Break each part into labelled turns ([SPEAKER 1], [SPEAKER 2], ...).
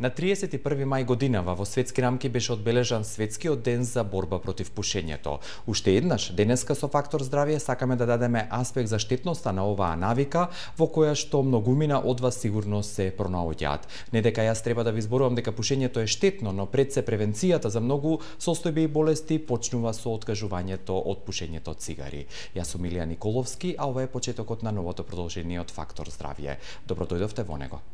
[SPEAKER 1] На 31 мај годинава во светски рамки беше одбележан Светскиот ден за борба против пушењето. Уште еднаш, денеска со Фактор здравје сакаме да дадеме аспект за штетноста на оваа навика, во која што многумина од вас сигурно се пронаоѓаат. Не дека јас треба да ви зборувам дека пушењето е штетно, но пред се превенцијата за многу состојби и болести почнува со откажувањето од пушењето цигари. Јас сум Илија Николовски, а ова е почетокот на новото продолжение од Фактор здравје. Добро дојдовте во него.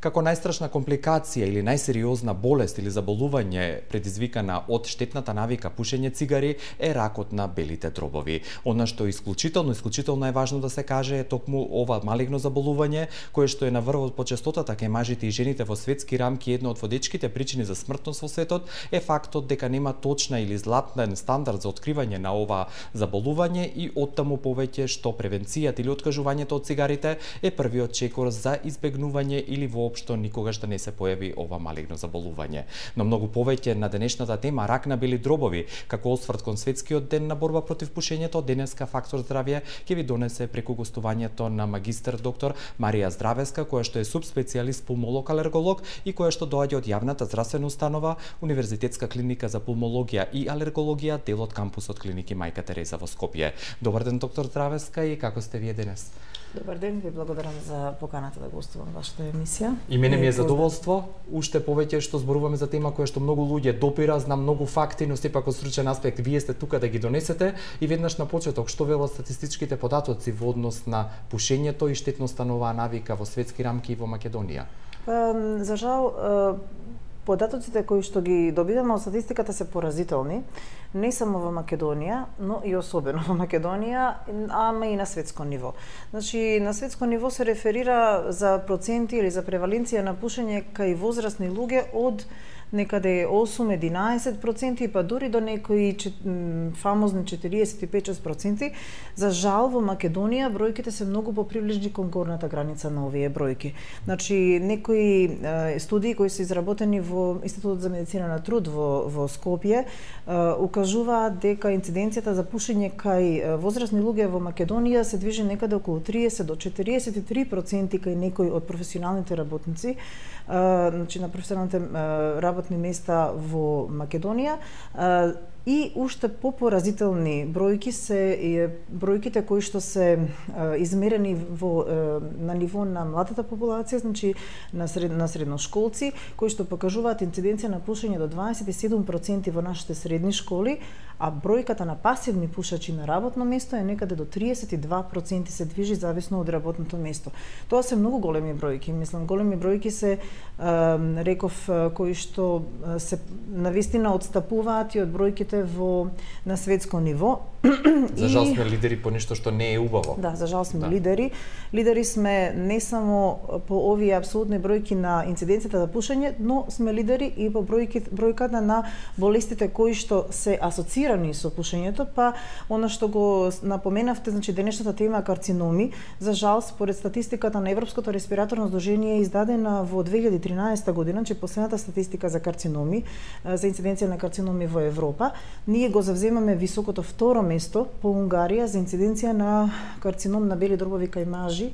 [SPEAKER 1] Како најстрашна компликација или најсериозна болест или заболување предизвикана од штетната навика пушење цигари е ракот на белите дробови. Она што исклучително е важно да се каже е токму ова малигно заболување кое што е на врвот по честотата кај мажите и жените во светски рамки. Една од водечките причини за смртност во светот е фактот дека нема точна или златен стандард за откривање на ова заболување и оттаму повеќе што превенцијата или откажувањето од цигарите е првиот чекор за избегнување или што никогаш да не се појави ова малигно заболување. Но многу повеќе на денешната тема рак на бели дробови, како осврт кон Светскиот ден на борба против пушењето, денеска Фактор здравје ќе ви донесе преку гостувањето на магистар доктор Марија Здравеска, која што е субспецијалист пулмолог-алерголог и која што доаѓа од јавната здравствена установа Универзитетска клиника за пулмологија и алергологија, дел од кампусот клиники Мајка Тереза во Скопје. Добар ден, доктор Здравеска, и како сте вие денес?
[SPEAKER 2] Добар ден, ви благодарам за поканата да гостувам вашата емисија.
[SPEAKER 1] И мене ми е задоволство, уште повеќе што зборуваме за тема која што многу луѓе допира, знам многу факти, но сепак од стручен аспект вие сте тука да ги донесете. И веднаш на почеток, што велат статистичките податоци во однос на пушењето и штетноста на оваа навика во светски рамки и во Македонија?
[SPEAKER 2] За жал, податоците кои што ги добиваме од статистиката се поразителни, не само во Македонија, но и особено во Македонија, ама и на светско ниво. Значи, на светско ниво се реферира за проценти или за преваленција на пушење кај возрастни луѓе од некаде 8-11%, па дури до некои фамозни 45-6%. За жал, во Македонија бројките се многу поприближни кон горната граница на овие бројки. Значи, некои студии кои се изработени во Институтот за медицина на труд во Скопје укажуваат дека инциденцијата за пушење кај возрастни луѓе во Македонија се движи некаде околу 30 до 43% кај некои од професионалните работници, значи на професионалните работни места во Македонија. И уште попоразителни бројки се бројките кои што се измерени на ниво на младата популација, значи на средношколци, кои што покажуваат инциденција на пушење до 27% во нашите средни школи, а бројката на пасивни пушачи на работно место е некаде до 32% се движи зависно од работното место. Тоа се многу големи бројки, мислам, големи бројки се реков кои што се навистина отстапуваат и од бројките на светско ниво.
[SPEAKER 1] За жал сме лидери по нешто што не е убаво.
[SPEAKER 2] Да, за жал сме лидери. Лидери сме не само по овие апсолутни бројки на инциденцијата за пушење, но сме лидери и по бројката на болестите кои што се асоцирани со пушењето, па она што го напоменавте, значи денешната тема карциноми. За жал, според статистиката на Европското респираторно здружение издадена во 2013 година, значи последната статистика за карциноми, за инциденција на карциноми во Европа, ние го завземаме високото второ место по Унгарија за инциденција на карцином на бели дробови кај мажи,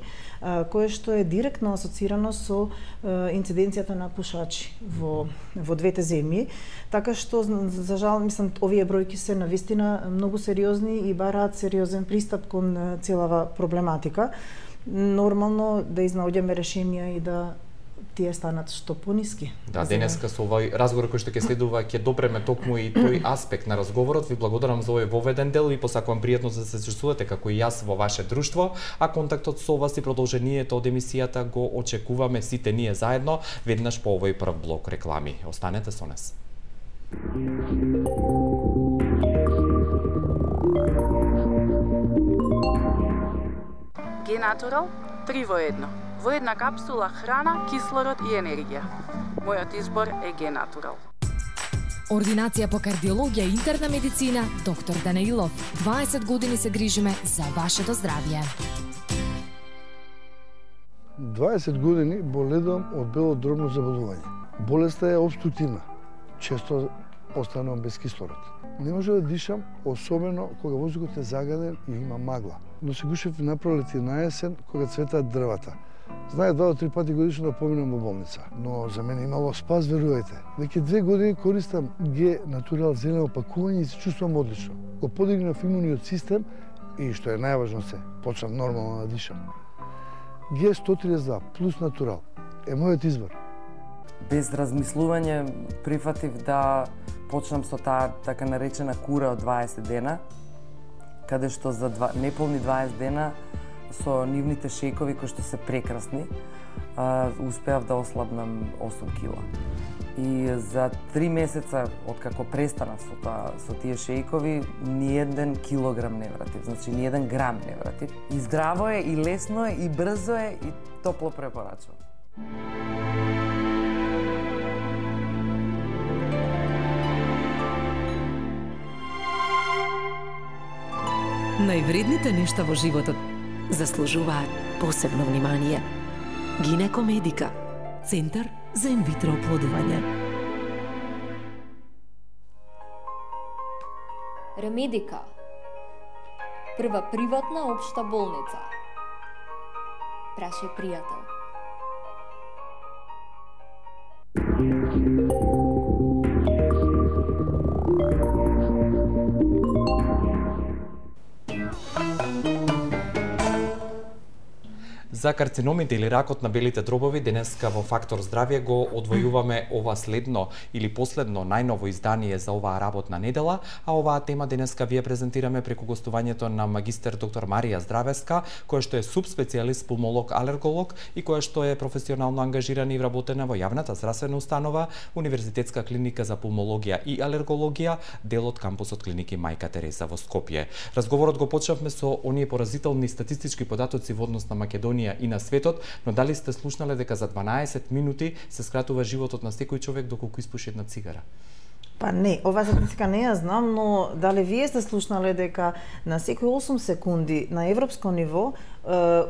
[SPEAKER 2] кое што е директно асоцирано со инциденцијата на пушачи во двете земји. Така што, за жал, мислам, овие бројки се навистина многу сериозни и бараат сериозен пристап кон целава проблематика. Нормално да изнаоѓаме решенија и да тие станат што пониски.
[SPEAKER 1] Да, денеска со овој разговор кој што ќе следува ќе допреме токму и тој аспект на разговорот. Ви благодарам за овој воведен дел и посакувам пријатно да се чувствувате како и јас во ваше друштво, а контактот со вас и продолжението од емисијата го очекуваме сите ние заедно веднаш по овој прв блок реклами. Останете со нас.
[SPEAKER 3] Генатурал 3 во 1. Во една капсула храна, кислород и енергија. Мојот избор е Генатурал.
[SPEAKER 4] Ординација по кардиологија и интерна медицина, доктор Данаилов. 20 години се грижиме за вашето здравје.
[SPEAKER 5] 20 години боледувам од бело дробно заболување. Болеста е обструктивна. Често останувам без кислород. Не може да дишам, особено кога воздухот е загаден и има магла. Но се гушев на пролет и на есен, кога цветаат дрвата. Знае 2 до 3 пати годишно да поминам во болница, но за мене имало спас, верувајте. Веќе 2 години користам Г Натурал зелено пакување и се чувствувам одлично. Го подигнав имуниот систем и што е најважно се, почнав нормално да дишам. Г 132 плюс Натурал е мојот избор.
[SPEAKER 6] Без размислување прифатив да почнам со таа така наречена кура од 20 дена, каде што за неполни 20 дена со нивните шејкови кои што се прекрасни, успеав да ослабнам 8 кила. И за 3 месеца откако престанав со тие шејкови, ни еден килограм не вратив, значи ни еден грам не вратив. И здраво е, и лесно е, и брзо е, и топло препорачувам.
[SPEAKER 7] Највредните нешта во животот заслужуваат посебно внимание. Гинекомедика, Центар за инвитро оплодување.
[SPEAKER 8] Ремедика, прва приватна општа болница. Прашај пријател.
[SPEAKER 1] За карциномите или ракот на белите дробови денеска во Фактор здравје го одвојуваме ова следно или последно најново издание за оваа работна недела, а оваа тема денеска вие презентираме преку гостувањето на магистер доктор Марија Здравеска, која што е субспецијалист пулмолог-алерголог и која што е професионално ангажирана и вработена во јавната здравствена установа Универзитетска клиника за пулмологија и алергологија, дел од кампусот клиники Мајка Тереза во Скопје. Разговорот го почнавме со оние поразителни статистички податоци во однос на Македонија и на светот, но дали сте слушнале дека за 12 минути се скратува животот на секој човек доколку испуши една цигара?
[SPEAKER 2] Па не, оваа статистика не ја знам, но дали вие сте слушнале дека на секои 8 секунди на европско ниво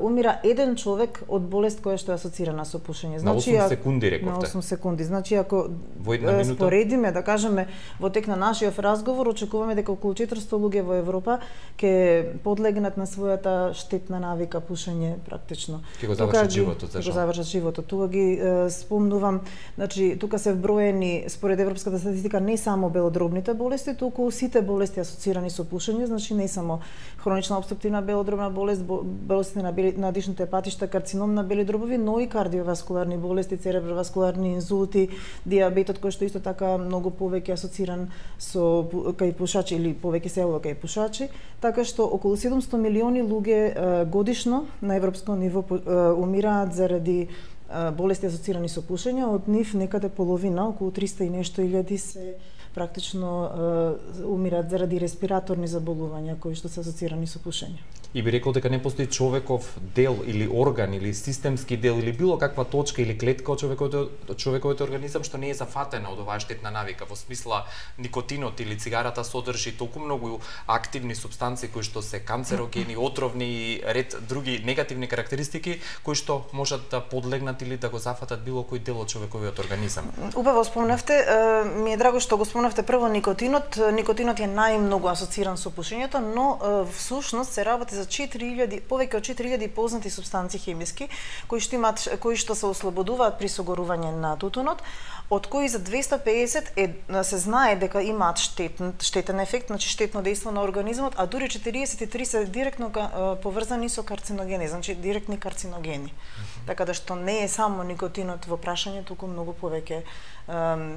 [SPEAKER 2] умира еден човек од болест која што е асоцирана со пушење.
[SPEAKER 1] Значи, на 8 секунди рековте?
[SPEAKER 2] На 8 секунди. Значи, ако
[SPEAKER 1] во
[SPEAKER 2] споредиме, да кажеме, во тек на нашиот разговор, очекуваме дека околу 400 луѓе во Европа ќе подлегнат на својата штетна навика пушење практично.
[SPEAKER 1] Ќе го завршат животот,
[SPEAKER 2] зашто? Ќе го завршат животот. Тука ги спомнувам, значи, тука се вброени, според европската статистика, не само белодробните болести, туку сите болести асоцирани со пушење, значи не само хронична обструктивна белодробна болест, болести на дишните патишта, карцином на бели дробови, но и кардиоваскуларни болести, цереброваскуларни инзулти, диабетот кој што исто така многу повеќе асоциран со кај пушачи или повеќе се јавува кај пушачи, така што околу 700 милиони луѓе годишно на европско ниво умираат заради болести асоцирани со пушење, од нив некаде половина, околу 300 и нешто илјади се практично умираат заради респираторни заболувања кои што се асоцирани со пушење.
[SPEAKER 1] И би рекол дека не постои човеков дел или орган или системски дел или било каква точка или клетка од човековиот организам што не е зафатена од оваа штетна навика, во смисла никотинот или цигарата содржи толку многу активни супстанции кои што се канцерогени, отровни и ред други негативни карактеристики кои што можат да подлегнат или да го зафатат било кој дел од човековиот организам.
[SPEAKER 2] Убаво спомнавте, ми е драго што го спомнавте прво никотинот. Никотинот е најмногу асоциран со пушењето, но всушност се работи за 4000, повеќе од 4000 познати супстанции хемиски кои што се ослободуваат при согорување на тутунот, од кои за 250 се знае дека имаат штетен ефект, значи штетно дејство на организмот, а дури 43 се директно поврзани со карциногени, значи директни карциногени. Така да што не е само никотинот во прашање, туку многу повеќе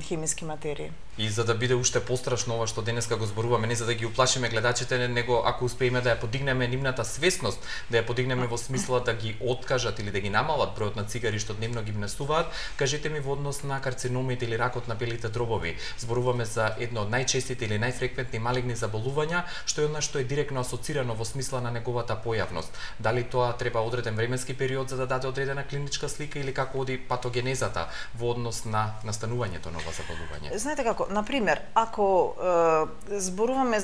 [SPEAKER 2] хемиски материи.
[SPEAKER 1] И за да биде уште пострашно ова што денеска го зборуваме, не за да ги уплашиме гледачите, него ако успееме да ја подигнеме нивната свесност, да ја подигнеме во смисла да ги откажат или да ги намалат бројот на цигари што дневно ги внесуваат, кажете ми во однос на карциномите или ракот на белите дробови. Зборуваме за едно од најчестите или најфреквентни малигни заболувања, што е она што е директно асоцирано во смисла на неговата појавност. Дали тоа треба одреден временски период за да даде одредена клиничка слика или како оди патогенезата во однос на настанувањето на ова заболување?
[SPEAKER 2] Знаете како, например, ако зборуваме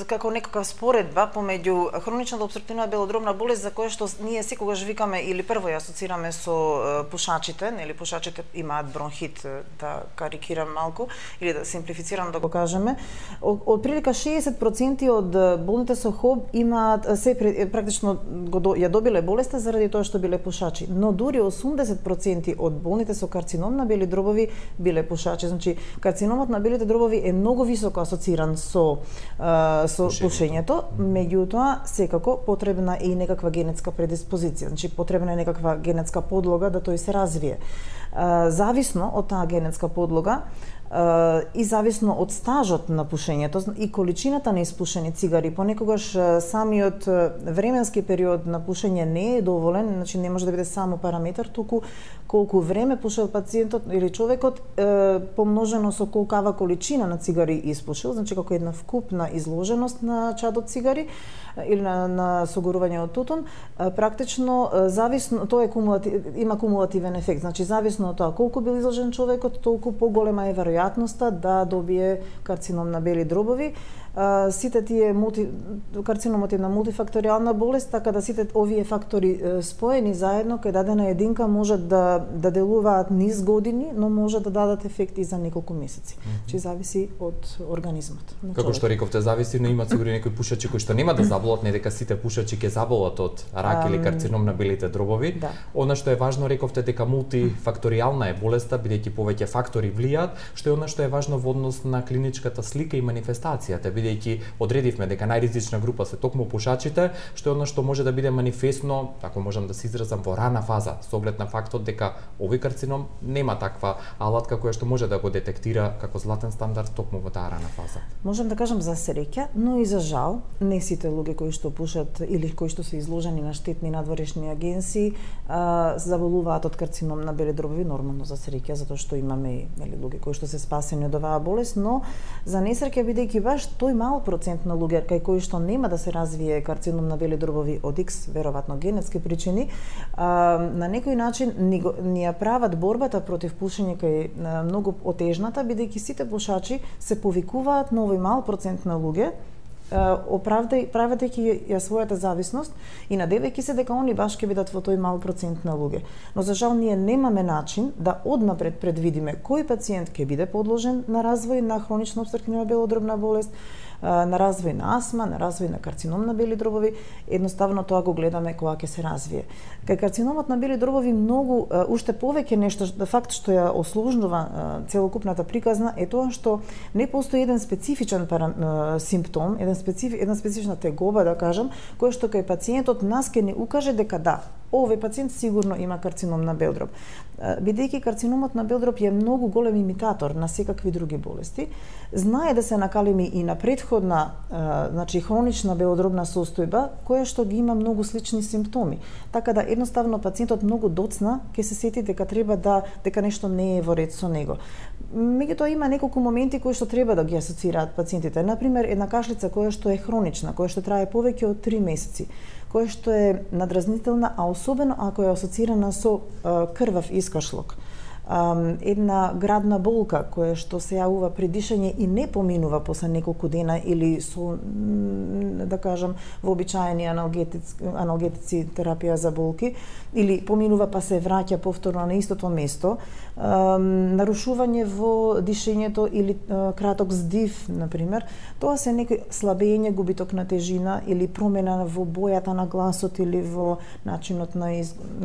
[SPEAKER 2] како некаква споредба помеѓу хроничната обструктивна белодробна болест за која што ние секогаш викаме или прво ја асоцираме со пушачите, нели пушачите имаат бронхит да карикирам малку или да симплифицирам да го кажеме, од прилика 60% од болните со ХОБ имаат практично ја добиле болеста заради тоа што биле пушачи, но дури 80% од болните со карцином на бели дробови биле пушачи. Значи карциномот на белите дробови е многу високо асоциран со пушењето, меѓутоа секако потребна е и некаква генетска предиспозиција, значи потребна е некаква генетска подлога да тој се развие. Зависно од таа генетска подлога и зависно од стажот на пушењето и количината на испушени цигари, понекогаш самиот временски период на пушење не е доволен, значи не може да биде само параметар, туку колку време пушел пациентот или човекот помножено со колкава количина на цигари испушил, значи како една вкупна изложеност на чадот цигари или на согорување од тутун, практично зависно, тоа има кумулативен ефект, значи зависно од тоа колку бил изложен човекот, толку поголема е веројатноста да добие карцином на бели дробови. Сите тие карциномот е една мултифакторијална болест, така да сите овие фактори споени заедно кај дадена единка можат да делуваат низ години, но може да дадат ефекти за неколку месеци. Че зависи од организмот.
[SPEAKER 1] Како што рековте, зависи, но има сигурно некои пушачи кои што нема да заболат, не дека сите пушачи ќе заболат од рак или карцином на белите дробови.
[SPEAKER 2] Да.
[SPEAKER 1] Она што е важно, рековте дека мултифакторијална е болеста, бидејќи повеќе фактори влијаат, што е она што е важно во однос на клиничката слика и манифестацијата, бидејќи одредивме дека најризична група се токму пушачите, што е она што може да биде манифестно, ако можам да се изразам, во рана фаза, со оглед на фактот дека овој карцином нема таква алатка која што може да го детектира како златен стандард токму во таа рана фаза.
[SPEAKER 2] Можам да кажам за среќа, но и за жал, не сите луѓе кои што пушат или кои што се изложени на штетни надворешни агенции заболуваат од карцином на бели дробови, нормално за среќа, затоа што имаме луѓе кои што се спасени од оваа болест, но за несреќа бидејќи баш тој мал процент на луѓе кај кои што нема да се развие карцином на бели дробови од X, веројатно генетски причини, на некој начин ни ја прават борбата против пушење кај многу отежната, бидејќи сите пушачи се повикуваат на овој мал процент на луѓе, праведејќи ја својата зависност и надевајќи се дека они баш ќе бидат во тој мал процент на луѓе. Но за жал ние немаме начин да однапред предвидиме кој пациент ќе биде подложен на развој на хронична опструктивна белодробна болест, на развој на асма, на развој на карцином на бели дробови, едноставно тоа го гледаме кога ќе се развие. Кај карциномот на бели дробови многу, уште повеќе нешто, факт што ја ослужнува целокупната приказна е тоа што не постои еден специфичен симптом, една специфична тегоба, да кажам, која што кај пациентот нас ќе не укаже дека да, овој пациент сигурно има карцином на бел дроб. Бидејќи карциномот на бел дроб е многу голем имитатор на секакви други болести, знае да се накалеми и на претходна, значи хронична белодробна состојба, која што ги има многу слични симптоми. Така да едноставно пациентот многу доцна ќе се сети дека дека нешто не е во ред со него. Меѓутоа има неколку моменти кои што треба да ги асоцираат пациентите. Например, една кашлица која што е хронична, која што трае повеќе од 3 месеци, која што е надразнителна, а особено ако е асоцирана со крвав искашлок. Една градна болка која што се јавува при дишење и не поминува после неколку дена или со, да кажам, вообичаени аналгетици терапија за болки, или поминува па се враќа повторно на истото место, нарушување во дишењето или краток здив, например, тоа се некој слабење, губиток на тежина или промена во бојата на гласот или во начинот на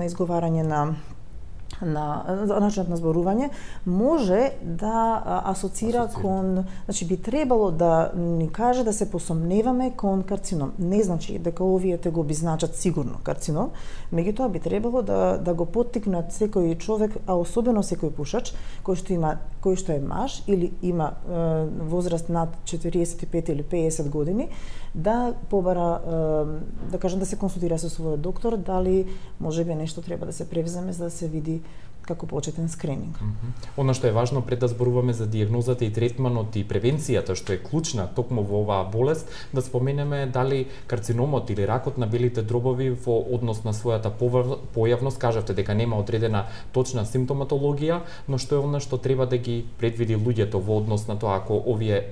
[SPEAKER 2] изговарање на начинот на зборување, може да асоцира кон, значи би требало да ни каже да се посомневаме кон карцином. Не значи дека овие тегоби значат сигурно карцином, меѓутоа би требало да го поттикнат секој човек, а особено секој пушач кој што е маж или има возраст над 45 или 50 години, да побара, да кажам, да се консултира со својот доктор, дали можеби нешто треба да се превземе за да се види како почетен скрининг.
[SPEAKER 1] Она што е важно пред да зборуваме за дијагнозата и третманот и превенцијата, што е клучна токму во оваа болест, да споменеме дали карциномот или ракот на белите дробови во однос на својата појавност, кажавте дека нема одредена точна симптоматологија, но што е она што треба да ги предвиди луѓето во однос на тоа ако овие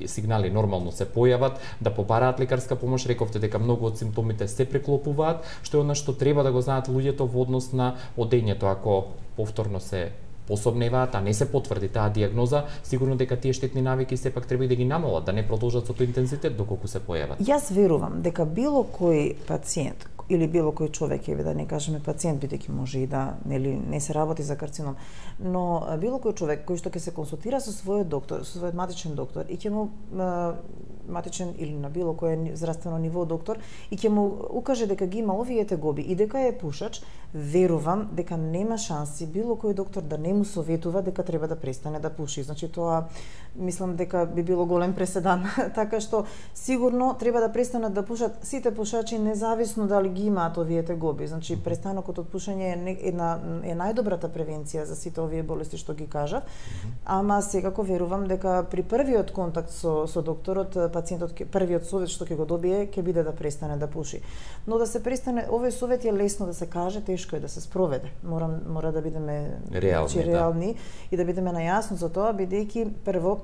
[SPEAKER 1] сигнали нормално се појават, да побараат лекарска помош. Рековте дека многу од симптомите се преклопуваат, што е она што треба да го знаат луѓето во однос на одењето ако повторно се пособневаат, а не се потврди таа дијагноза, сигурно дека тие штетни навики сепак треба и да ги намалат, да не продолжат со тој интензитет доколку се појават.
[SPEAKER 2] Јас верувам дека било кој пациент или било кој човек, да не кажеме пациент, бидејќи може и да не се работи за карцином, но било кој човек кој што ќе се консултира со својот доктор, со својот матичен доктор и ќе му матичен или на било кое здравствено ниво доктор и ќе му укаже дека ги има овие тегоби и дека е пушач, верувам дека нема шанси било кој доктор да не му советува дека треба да престане да пуши. Значи тоа мислам дека би било голем преседан, така што сигурно треба да престанат да пушат сите пушачи независно дали ги имаат овие тегоби. Значи престанокот од пушење е најдобрата превенција за сите овие болести што ги кажав, ама секако верувам дека при првиот контакт со докторот пациентот првиот совет што ќе го добие ќе биде да престане да пуши. Но да се престане, овој совет е лесно да се каже, тешко е да се спроведе. Мора да бидеме реални и да бидеме најасно за тоа, бидејќи прво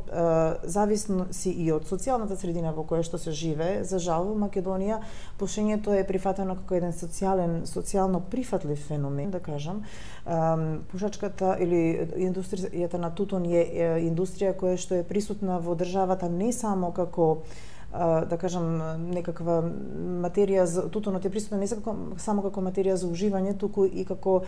[SPEAKER 2] зависно си и од социјалната средина во која што се живее. За жал во Македонија пушењето е прифатено како еден социјално прифатлив феномен, да кажам. Пушачката или индустријата на тутун е индустрија која што е присутна во државата не само како да кажам некаква материја за тутунот е присутна не само како материја за уживање, туку и како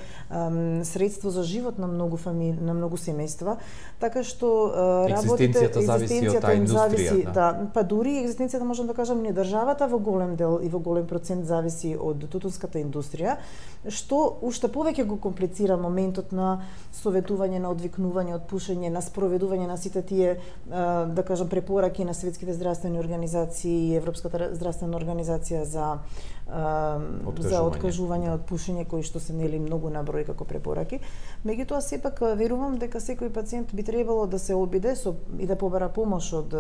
[SPEAKER 2] средство за живот на многу фамилии, на многу семејства, така што
[SPEAKER 1] екзистенцијата зависи од таа индустрија.
[SPEAKER 2] Да, па дури екзистенцијата можам да кажам не државата во голем дел и во голем процент зависи од тутунската индустрија, што уште повеќе го комплицира моментот на советување, на одвикнување од пушење, на спроведување на сите тие да кажам препораки на светските здравствени организации и Европската здравствена организација за откажување од пушење, кои што се нели многу на број како препораки. Меѓутоа сепак верувам дека секој пациент би требало да се обиде и да побара помош од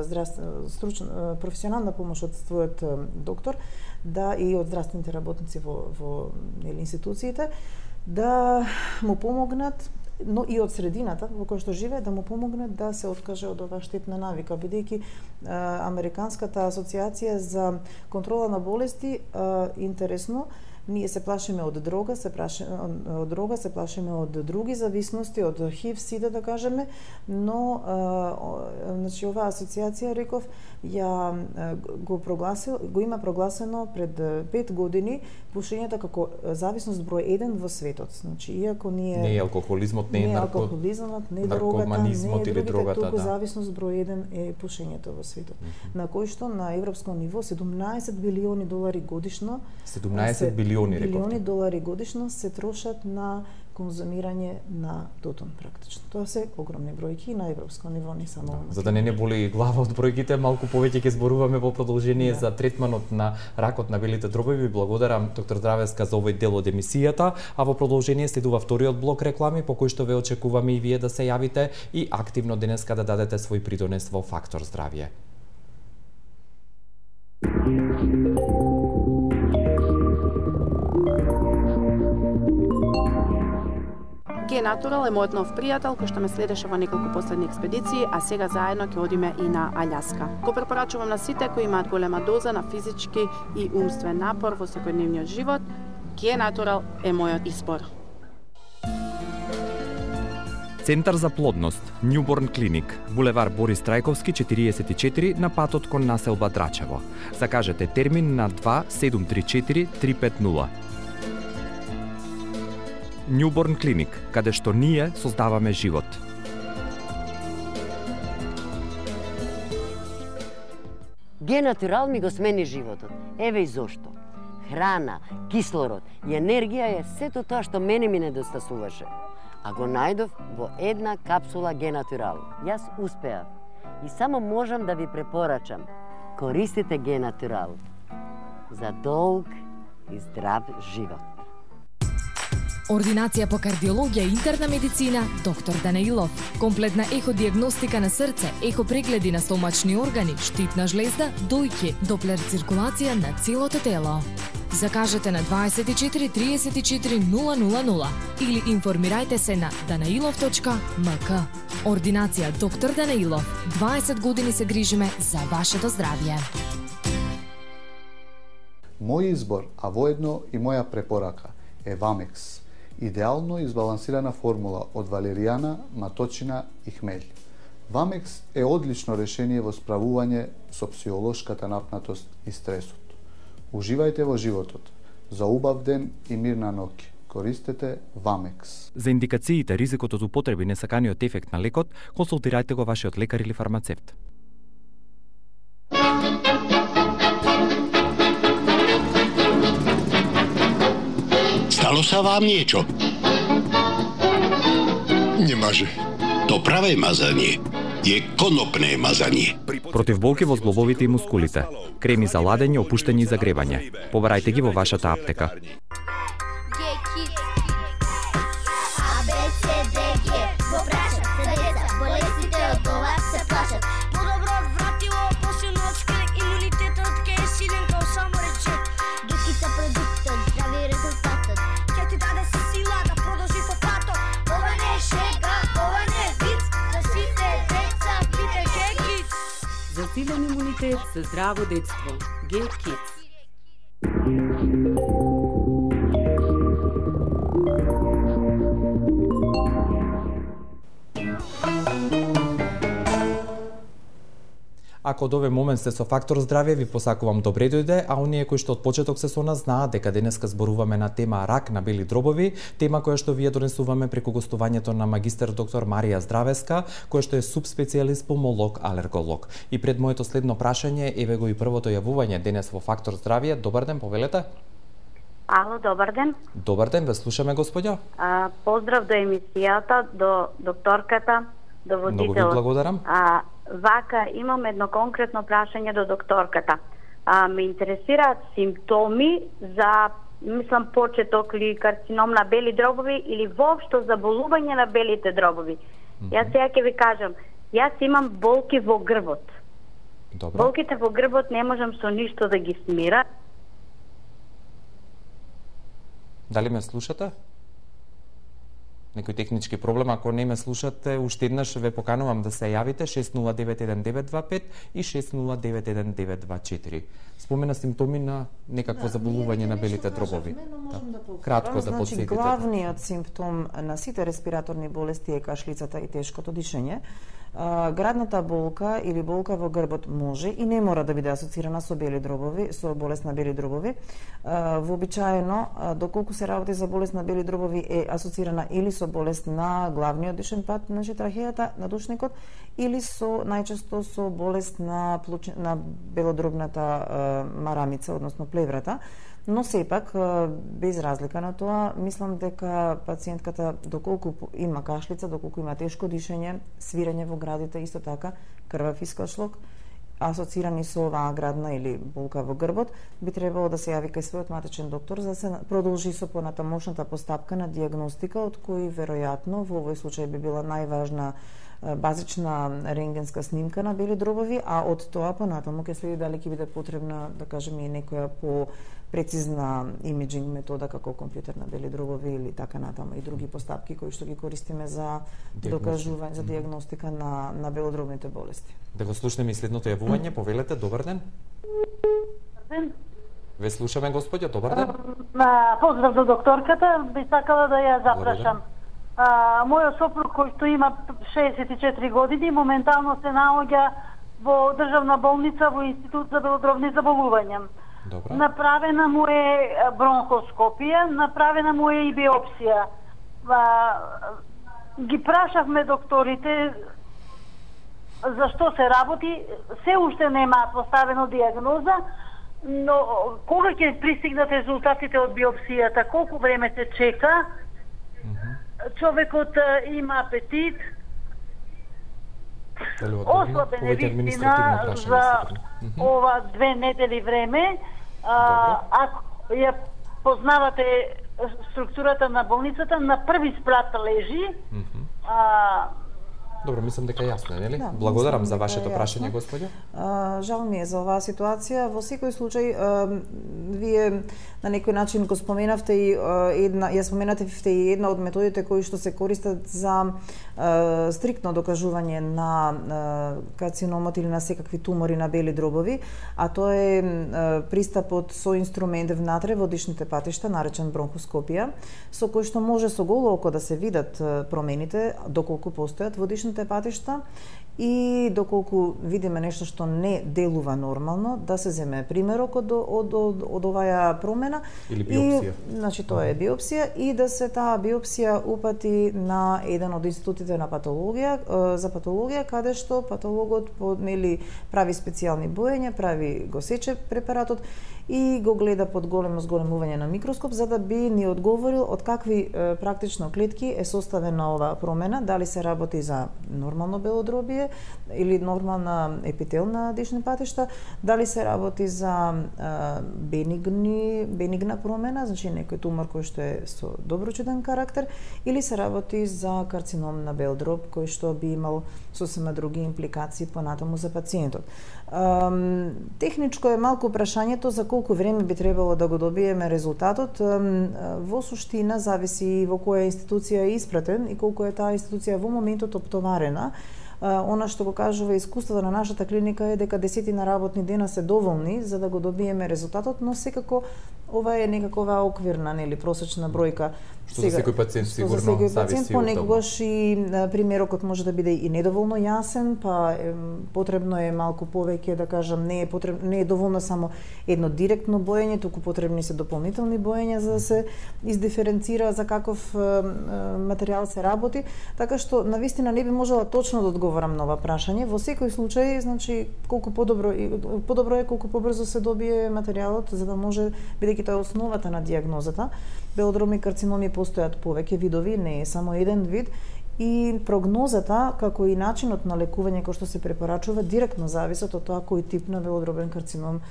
[SPEAKER 2] професионална помош од својот доктор, да и од здравствените работници во институциите, да му помогнат, но и од средината во која што живее, да му помогнат да се откаже од оваа штетна навика, бидејќи Американската асоциација за контрола на болести интересно ние се плашиме од дрога, се плашиме од други зависности, од ХИВ, СИДА да кажеме, но значи оваа асоциација реков го има прогласено пред 5 години пушењето како зависност број 1 во светот. Значи иако не е
[SPEAKER 1] алкохолизмот, не е
[SPEAKER 2] алкохолизмот, не е дрогата, не е другите, туку зависност број 1 е пушењето во светот. На кој што на европско ниво 17 билиони долари годишно
[SPEAKER 1] 17 билиони
[SPEAKER 2] долари годишно се трошат на конзумирање на тутун практично. Тоа се огромни бројки на европско ниво, не само.
[SPEAKER 1] За да не боли глава од бројките, малку повеќе ќе зборуваме во продолжение за третманот на ракот на белите дробови. Благодарам доктор Здравеска за овој дел од емисијата, а во продолжение следува вториот блок реклами по кој што ве очекуваме и вие да се јавите и активно денеска да дадете свој придонес во Фактор здравје.
[SPEAKER 3] Г-Натурал е мојот нов пријател кој што ме следеше во неколку последни експедиции, а сега заедно ќе одиме и на Аљаска. Го препорачувам на сите кои имаат голема доза на физички и умствен напор во секојдневниот живот. Г-Натурал е мојот избор.
[SPEAKER 1] Центар за плодност, Newborn Clinic, булевар Борис Трајковски 44 на патот кон населба Драчево. Закажете термин на 2734 350. Newborn Clinic, каде што ние создаваме живот.
[SPEAKER 9] Г-Натурал ми го смени животот. Еве и зошто. Храна, кислород и енергија е сето тоа што мене ми недостасуваше. А го најдов во една капсула Г-Натурал. Јас успеав и само можам да ви препорачам. Користите Г-Натурал за долг и здрав живот.
[SPEAKER 4] Ординација по кардиологија и интерна медицина, доктор Данаилов. Комплетна еходиагностика на срце, ехопрегледи на стомачни органи, штитна жлезда, дојќе, доплер циркулација на целото тело. Закажете на 24 34 000 или информирајте се на danailov.mk. Ординација доктор Данаилов. 20 години се грижиме за вашето здравје.
[SPEAKER 10] Мој избор, а воедно и моја препорака е Вамекс. Идеално избалансирана формула од валеријана, маточина и хмелј. Вамекс е одлично решение во справување со психолошката напнатост и стресот. Уживајте во животот. За убав ден и мирна ноќ. Користете Вамекс.
[SPEAKER 1] За индикациите, ризикот од употреби несаканиот ефект на лекот, консултирајте го вашиот лекар или фармацевт.
[SPEAKER 11] Stalo sa vám niečo?
[SPEAKER 12] Немаже.
[SPEAKER 11] To pravé mazanie je konopné mazanie.
[SPEAKER 1] Против болки во зглобовите и мускулите, креми за ладење, опуштање и загревање. Побарајте ги во вашата аптека.
[SPEAKER 7] За силен имунитет, за здраво детство. G-Kids.
[SPEAKER 1] Ако од овој момент сте со Фактор здравје, ви посакувам добре дојде, а оние кои што од почеток се со нас знаат дека денеска зборуваме на тема рак на бели дробови, тема која што вие донесуваме преку гостувањето на магистер доктор Марија Здравеска, која што е субспецијалист пулмолог, алерголог. И пред моето следно прашање, еве го и првото јавување денес во Фактор здравје. Добар ден, повелете.
[SPEAKER 13] Ало, добар ден.
[SPEAKER 1] Добар ден, ве слушаме, господјо.
[SPEAKER 13] Поздрав до емисијата, до докторката, до водителот.
[SPEAKER 1] Многу ви благодарам.
[SPEAKER 13] Вака, имам едно конкретно прашање до докторката. Ме интересираат симптоми за, мислам, почеток или карцином на бели дробови или воопшто заболување на белите дробови. Јас сега ќе ви кажам, јас имам болки во грбот.
[SPEAKER 1] Добро.
[SPEAKER 13] Болките во грбот не можам со ништо да ги смира.
[SPEAKER 1] Дали ме слушате? Некој технички проблем, ако не ме слушате, уште еднаш ве поканувам да се јавите 6091925 и 6091924. Спомена симптоми на некакво заболување на белите дробови. Кратко да подсетите.
[SPEAKER 2] Главниот симптом на сите респираторни болести е кашлицата и тешкото дишење. Градната болка или болка во грбот може и не мора да биде асоцирана со бели дробови, со болест на бели дробови. Вообичаено, доколку се работи за болест на бели дробови, е асоцирана или со болест на главниот дишен пат, значи трахејата, на душникот, или со најчесто со болест на белодробната марамица, односно плеврата. Но сепак, без разлика на тоа, мислам дека пациентката, доколку има кашлица, доколку има тешко дишење, свирење во градите, исто така, крвав искашлок, асоцирани со оваа градна или болка во грбот, би требало да се јави кај својот матичен доктор за да се продолжи со понатамошната постапка на дијагностика, од кој веројатно во овој случај би била најважна базична рентгенска снимка на бели дробови, а од тоа понатаму ќе следи дали ќе биде потребна, да кажеме, и некоја прецизна имиджинг метода како компјутер на бели дробови или така натаму и други постапки кои што ги користиме за докажување, за дијагностика на белодробните болести.
[SPEAKER 1] Да го слушнеме и следното јавување, повелете, добар ден.
[SPEAKER 14] Добар ден.
[SPEAKER 1] Ве слушаме, господјо, добар ден.
[SPEAKER 14] Поздрав до докторката, би сакала да ја запрашам. Мојот сопруг кој што има 64 години моментално се наоѓа во државна болница во Институт за белодробни заболувања.
[SPEAKER 1] Добра.
[SPEAKER 14] Направена му е бронхоскопија, направена му е и биопсија. Ги прашавме докторите зашто се работи, се уште немаат поставено дијагноза, но кога ќе пристигнат резултатите од биопсијата, колку време се чека, човекот има апетит, ослабен е вистина за ова 2 недели време. Ако ја познавате структурата на болницата, на први спрат лежи,
[SPEAKER 1] Добро, мислам дека јасно е, нели?
[SPEAKER 2] Да,
[SPEAKER 1] Благодарам за
[SPEAKER 2] дека
[SPEAKER 1] вашето
[SPEAKER 2] е
[SPEAKER 1] прашање,
[SPEAKER 2] јасно.
[SPEAKER 1] господја.
[SPEAKER 2] Жал ми е за оваа ситуација. Во секој случај, вие на некој начин го споменавте и ја споменатевте и една од методите кои што се користат за стриктно докажување на карциномот или на секакви тумори на бели дробови, а тоа е пристапот со инструмент внатре во дишните патишта, наречен бронхоскопија, со кој што може со голо око да се видат промените, доколку постојат во дишните патишта, и доколку видиме нешто што не делува нормално, да се земе примерок од оваа промена.
[SPEAKER 1] Или биопсија.
[SPEAKER 2] Значи, тоа е биопсија и да се таа биопсија упати на еден од институтите на патологија, за патологија, каде што патологот прави специјални боења, го сече препаратот и го гледа под голем зголемување на микроскоп, за да би ни одговорил од какви практично клетки е составена оваа промена, дали се работи за нормално белодробие или нормална епителна дишни патишта, дали се работи за бенигна промена, значи некој тумор кој што е со доброчуден карактер, или се работи за карцином на бел дроб, кој што би имал сосема други импликации понатаму за пациентот. Техничко е малку прашањето за колку време би требало да го добиеме резултатот. Во суштина зависи и во која институција е испратен и колку е таа институција во моментот оптоварена. Она што го кажува искуството на нашата клиника е дека 10 работни дена се доволни за да го добиеме резултатот, но секако ова е некакова оквирна, нели, просечна бројка.
[SPEAKER 1] Што за секој пациент сигурно зависи од
[SPEAKER 2] понекогаш и примерокот може да биде и недоволно јасен, па потребно е малку повеќе, да кажам, не е доволно само едно директно боење, туку потребни се дополнителни боења за да се издиференцира за каков материјал се работи, така што навистина не би можела точно да одговорам на ова прашање. Во секој случај, значи, колку подобро е колку побрзо се добие материјалот, за да може, бидејќи тоа е основата на дијагнозата. Белодробни карциноми постојат повеќе видови, не е само еден вид, и прогнозата, како и начинот на лекување кој што се препорачува, директно зависат од тоа кој тип на белодробен карцином,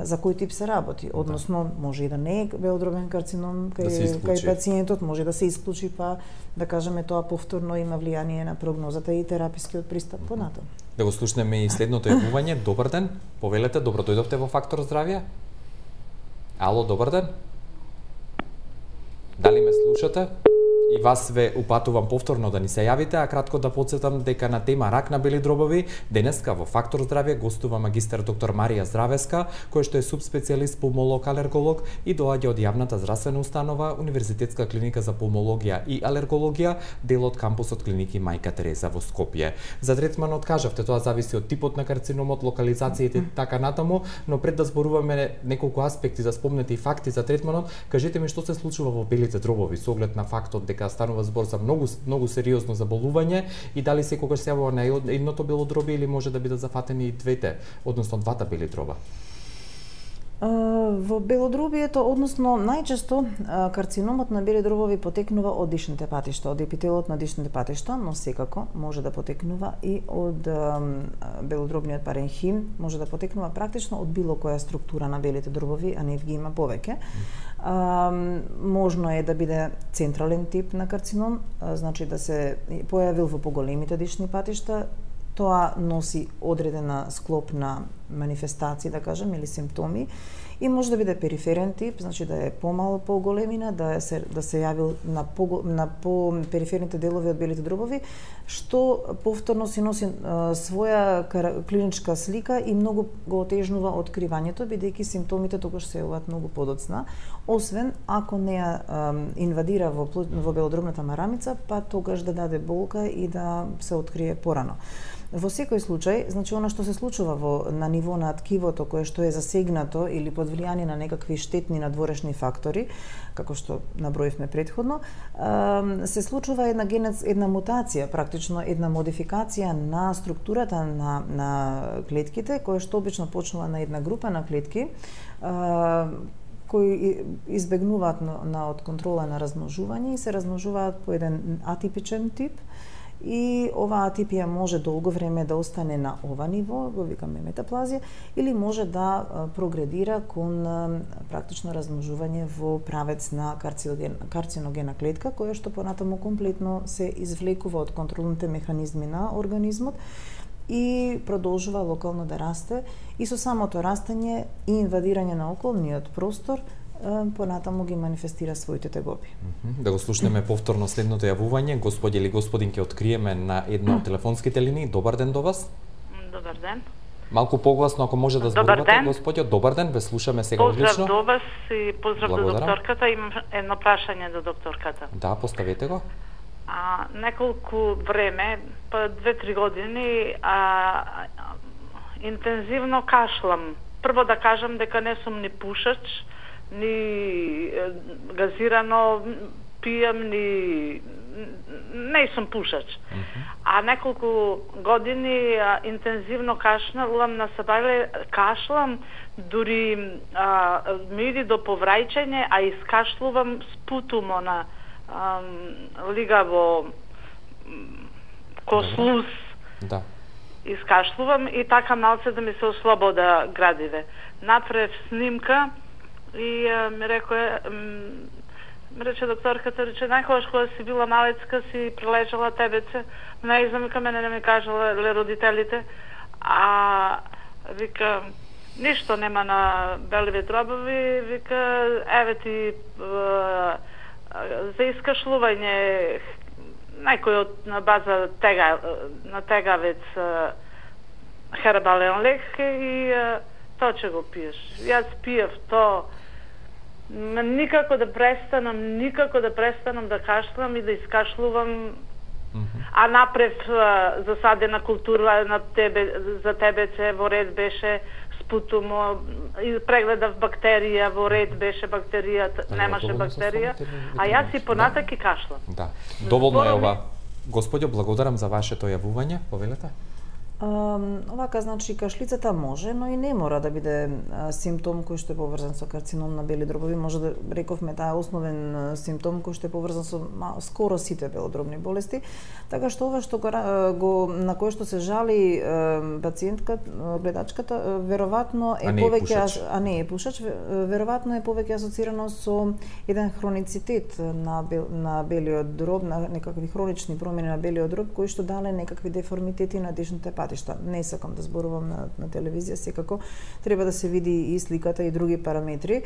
[SPEAKER 2] за кој тип се работи. Односно, може и да не е белодробен карцином кај пациентот, може да се исклучи, па да кажеме тоа повторно има влијание на прогнозата и терапискиот пристап понатаму.
[SPEAKER 1] Да го слушнеме и следното јавување. Добар ден, повелете, добро дојдовте во Фактор здравје. Ало, добар ден. Дали ме слушате? И вас ве упатувам повторно да ни се јавите, а кратко да подсетам дека на тема рак на бели дробови денеска во Фактор здравје гостува магистар доктор Марија Здравеска, која што е субспецијалист пулмолог-алерголог и доаѓа од јавната здравствена установа Универзитетска клиника за пулмологија и алергологија, дел од кампусот клиники Мајка Тереза во Скопје. За третманот кажавте, тоа зависи од типот на карциномот, локализацијите и така натаму, но пред да зборуваме неколку аспекти за спомнети факти за третманот, кажете ми што се случува во белите дробови со оглед на фактот дека станува збор за многу сериозно заболување и дали секогаш се јавува на едното бело дробие или може да бидат зафатени и двете, односно двата бели дроба?
[SPEAKER 2] Во белодробието, односно најчесто карциномот на бели дробови потекнува од дишните патишта, од епителот на дишните патишта, но секако може да потекнува и од белодробниот паренхим, може да потекнува практично од било која структура на белите дробови, а не ги има повеќе. Можно е да биде централен тип на карцином, значи да се појавил во поголемите дишни патишта. Тоа носи одредена склоп на манифестации, да кажем, или симптоми, и може да биде периферен тип, значи да е помал по големина, да се јавил на по периферните делови од белите дробови, што повторно си носи своја клиничка слика и многу го отежнува откривањето, бидејќи симптомите тогаш се јавуваат многу подоцна, освен ако не инвадира во белодробната марамица, па тогаш да даде болка и да се открие порано. Во секој случај, значи она што се случува на ниво на ткивото кое што е засегнато или под влијание на некакви штетни надворешни фактори, како што наброивме претходно, се случува една мутација, практично една модификација на структурата на клетките, која што обично почнува на една група на клетки, кои избегнуваат од контрола на размножување и се размножуваат по еден атипичен тип, и оваа атипија може долго време да остане на ова ниво, го викаме метаплазија, или може да прогредира кон практично размножување во правец на карциногена клетка, која што понатаму комплетно се извлекува од контролните механизми на организмот и продолжува локално да расте, и со самото растење и инвадирање на околниот простор понатаму ги манифестира своите тегоби.
[SPEAKER 1] Да го слушнеме повторно следното јавување. Господи или господин, ќе откриеме на една од телефонските линии. Добар ден до вас.
[SPEAKER 12] Добар ден.
[SPEAKER 1] Малку погласно, ако може да зборувате, господјо. Добар ден, ве слушаме сега одлично.
[SPEAKER 12] Поздрав до вас и поздрав до докторката. Имам едно прашање до докторката.
[SPEAKER 1] Да, поставете го.
[SPEAKER 12] Неколку време, па 2-3 години, интензивно кашлам. Прво да кажам дека не сум ни пушач, ни газирано пијам, ни не сум пушач. А неколку години интензивно кашлам на сабајле, кашлам, дури ми иди до поврајчење, а искашлувам спутумо на лигаво кослус.
[SPEAKER 1] Да.
[SPEAKER 12] Искашлувам и така малце да ми се ослобода градиве. Направив снимка и ми рече докторката, најхубаш кога си била малецка, си прележала тебеце, не знам, ка мене не ми кажала родителите, вика, ништо нема на беливе дробови, вика, еве ти за искашлување некој на база на тегавец хербален лек и тоа ќе го пиеш. Јас пиев тоа, никако да престанам да кашлам и да искашлувам, а напред засадена култура за тебеце во ред беше спутумо, и прегледав бактерија, во ред беше бактеријата, немаше бактерија, а јас и понатак и кашлам.
[SPEAKER 1] Да, доволно е ова. Господјо, благодарам за вашето јавување, повелете.
[SPEAKER 2] Овака, значи, кашлицата може, но и не мора да биде симптом кој што е поврзан со карцином на бели дробови. Може да рековме, таа е основен симптом кој што е поврзан со скоро сите белодробни болести. Така што ова што на кој што се жали пациентка, гледачката, веројатно е повеќе, а не е пушач, веројатно е повеќе асоцирано со еден хроницитет на белиот дроб, на некакви хронични промени на белиот дроб кои што дале некакви деформитети на дишните патишта. Не сакам да зборувам на телевизија, секако треба да се види и сликата и други параметри.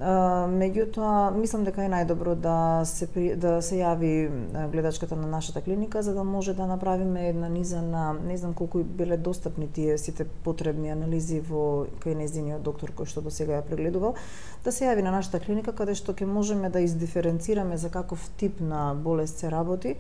[SPEAKER 2] Меѓутоа, мислам дека е најдобро да се јави гледачката на нашата клиника, за да може да направиме една низа на, не знам колку биле достапни тие сите потребни анализи во кај нејзиниот доктор кој што досега ја прегледувал, да се јави на нашата клиника каде што ќе можеме да издиференцираме за каков тип на болест се работи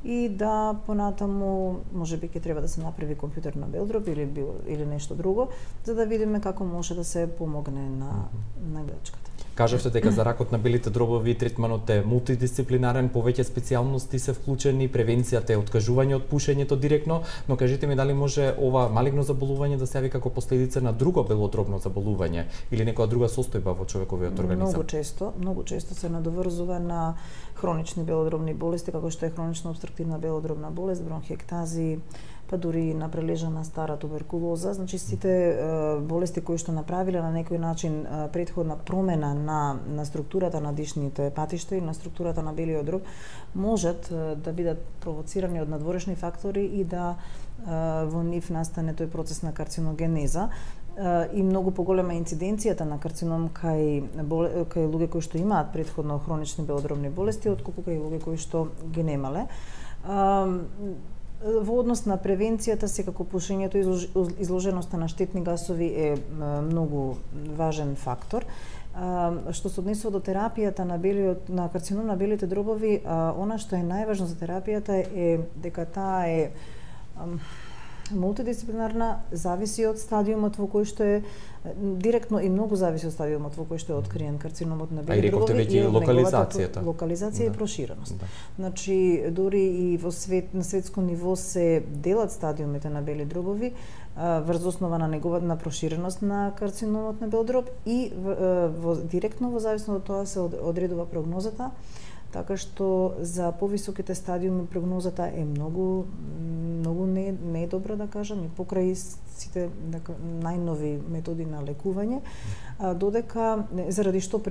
[SPEAKER 2] и да понатаму можеби ќе треба да се направи компјутер на бел дроб или нешто друго, за да видиме како може да се помогне на гледачката.
[SPEAKER 1] Кажавте дека за ракот на белите дробови третманот е мултидисциплинарен, повеќе специјалности се вклучени, превенцијата е откажување од пушењето директно, но кажете ми дали може ова малигно заболување да се јави како последица на друго белодробно заболување или некоја друга состојба во човековиот организам?
[SPEAKER 2] Многу често се надоврзува на хронични белодробни болести, како што е хронична обструктивна белодробна болест, бронхиектази, па дури на прележана стара туберкулоза. Значи, сите болести кои што направиле на некој начин претходна промена на структурата на дишните патишта и на структурата на белиот дроб можат да бидат провоцирани од надворешни фактори и да во нив настане тој процес на карциногенеза и многу поголема инциденцијата на карцином кај луѓе кои што имаат претходно хронични белодробни болести, отколку кај луѓе кои што ги немале. Во однос на превенцијата, секако пушењето и изложеноста на штетни гасови е многу важен фактор. Што се однесува до терапијата на карцином на белите дробови, она што е најважно за терапијата е дека таа е мултидисциплинарна, зависи од стадиумот во кој што е директно и многу зависи од стадиумот во кој што е откриен карциномот на бели дробови и локализација и проширеност. Значи, дури и на светско ниво се делат стадиумите на бели дробови врз основа на проширеност на карциномот на бел дроб и директно во зависност од тоа се одредува прогнозата. Така што за повисоките стадиуми прогнозата е многу не е добра, да кажам, и покрај сите најнови методи на лекување, додека заради што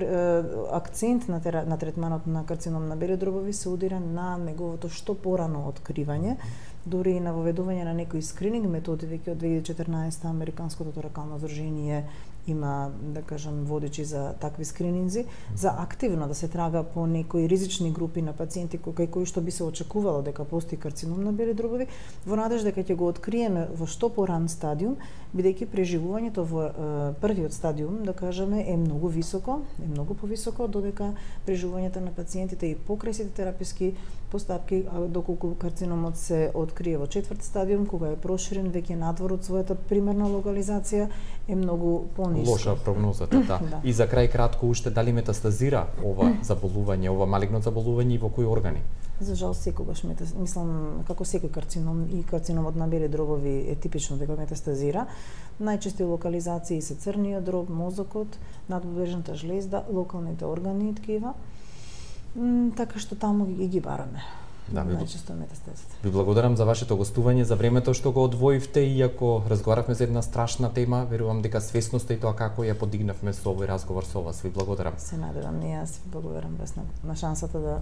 [SPEAKER 2] акцент на третманот на карцином на бели дробови се удира на неговото што порано откривање, дури и на воведување на некои скрининг методи. Веќе од 2014 Американското торакално здружение има, да кажам, водичи за такви скрининзи, за активно да се трага по некои ризични групи на пациенти кај кои што би се очекувало дека постои карцином на бели дробови, во надежда дека ќе го откриеме во што поран стадиум, бидејќи преживувањето во првиот стадиум, да кажеме, е многу високо, е многу повисоко, додека преживувањето на пациентите и покрај сите тераписки постапки, доколку карциномот се открие во четврт стадиум, кога е проширен веќе надвор од својата примерна локализација, е многу пониска.
[SPEAKER 1] Лоша прогнозата, да. И за крај кратко уште, дали метастазира ова заболување, ова малигно заболување и во кои органи?
[SPEAKER 2] За жал секогаш мислам, како секој карцином, и карциномот на бели дробови е типично дека метастазира. Најчести локализации се црниот дроб, мозокот, надбрежната жлезда, локалните органи и ткива. Така што таму ги бараме.
[SPEAKER 1] Да,
[SPEAKER 2] најчесто метастазите.
[SPEAKER 1] Ви благодарам за вашето гостување, за времето што го одвоивте, иако разговаравме за една страшна тема, верувам дека свесноста и тоа како ја подигнавме со овој разговор со вас. Ви благодарам.
[SPEAKER 2] Се надевам, и јас ви благодарам на шансата да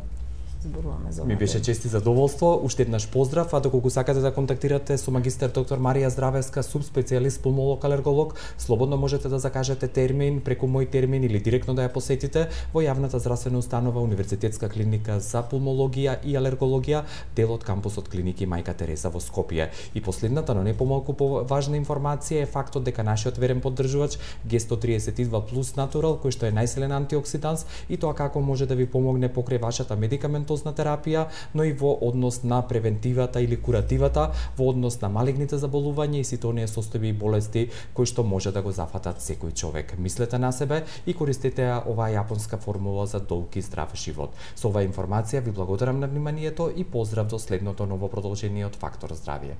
[SPEAKER 2] зборуваме за ова.
[SPEAKER 1] Ми беше чест и задоволство. Уште еднаш поздрав, а доколку сакате да контактирате со магистер доктор Марија Здравеска, субспецијалист пулмолог алерголог, слободно можете да закажете термин преку мој термин или директно да ја посетите во јавната здравствена установа Универзитетска клиника за пулмологија и алергологија, дел од кампусот клиники Мајка Тереза во Скопје. И последната, но не помалку важна информација е фактот дека нашиот верен поддржувач G132 Plus Natural, кој што е најсилен антиоксиданс, и тоа како може да ви помогне покрај вашата медикаментозна терапија, но и во однос на превентивата или куративата, во однос на малигните заболувања и сите оние состојби и болести кои што може да го зафатат секој човек. Мислете на себе и користете оваа јапонска формула за долг и здрав живот. Со оваа информација ви благодарам на вниманието и поздрав до следното ново продолжение од Фактор здравје.